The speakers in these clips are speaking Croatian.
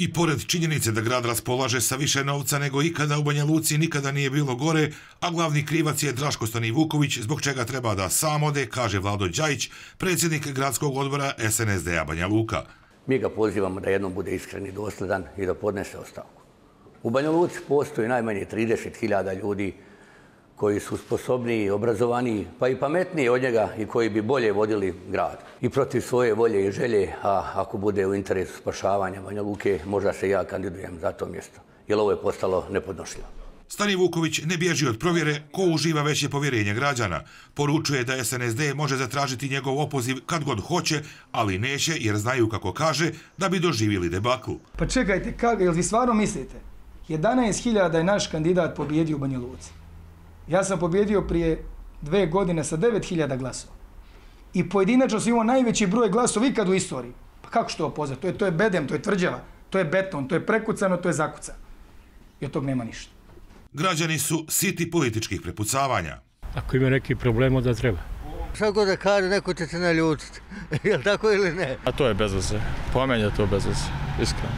I pored činjenice da grad raspolaže sa više novca nego ikada, u Banja Luci nikada nije bilo gore, a glavni krivac je Draško Stanivuković, zbog čega treba da sam ode, kaže Vlado Đajić, predsjednik gradskog odbora SNSD-a Banja Luka. Mi ga pozivamo da jednom bude iskren i dosledan i da podnese ostavku. U Banja Luci postoji najmanje 30.000 ljudi koji su sposobniji, obrazovaniji, pa i pametniji od njega i koji bi bolje vodili grad. I protiv svoje volje i želje, a ako bude u interesu spašavanja Banja Luke, možda se ja kandidujem za to mjesto, jer ovo je postalo nepodnošljivo. Stanivuković ne bježi od provjere ko uživa veće povjerenje građana. Poručuje da SNSD može zatražiti njegov opoziv kad god hoće, ali neće jer znaju, kako kaže, da bi doživjeli debakl. Pa čekajte, jel vi stvarno mislite? 11.000 je naš kandidat pobjedio u Banja Luci. Ja sam pobjedio prije 2 godine sa 9.000 glasova. I pojedinačno sam imao najveći broj glasova ikad u istoriji. Pa kako što opoznat? To je bedem, to je tvrđava, to je beton, to je prekucano, to je zakucano. I od tog nema ništa. Građani su siti političkih prepucavanja. Ako ima neki problem, onda treba. Šta god da kaže, neko će se naljutiti. Je li tako ili ne? A to je bez veze. Po meni je to bez veze, iskreno.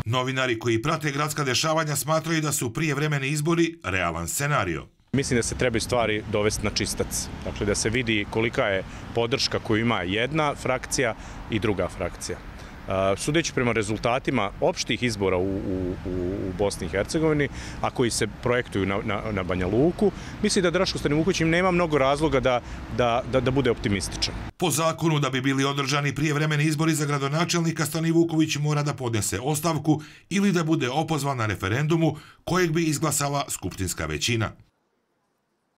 Novinari koji prate gradska dešavanja smatraju da su prijevremeni izbori realan scenario. Mislim da se trebaju stvari dovesti na čistac. Dakle, da se vidi kolika je podrška koju ima jedna frakcija i druga frakcija. Sudeći prema rezultatima opštih izbora u Bosni i Hercegovini, a koji se projektuju na Banja Luku, mislim da Draško Stanivuković im nema mnogo razloga da bude optimističan. Po zakonu, da bi bili održani prijevremeni izbori za gradonačelnika, Stanivuković mora da podnese ostavku ili da bude opozvan na referendumu kojeg bi izglasala skupštinska većina.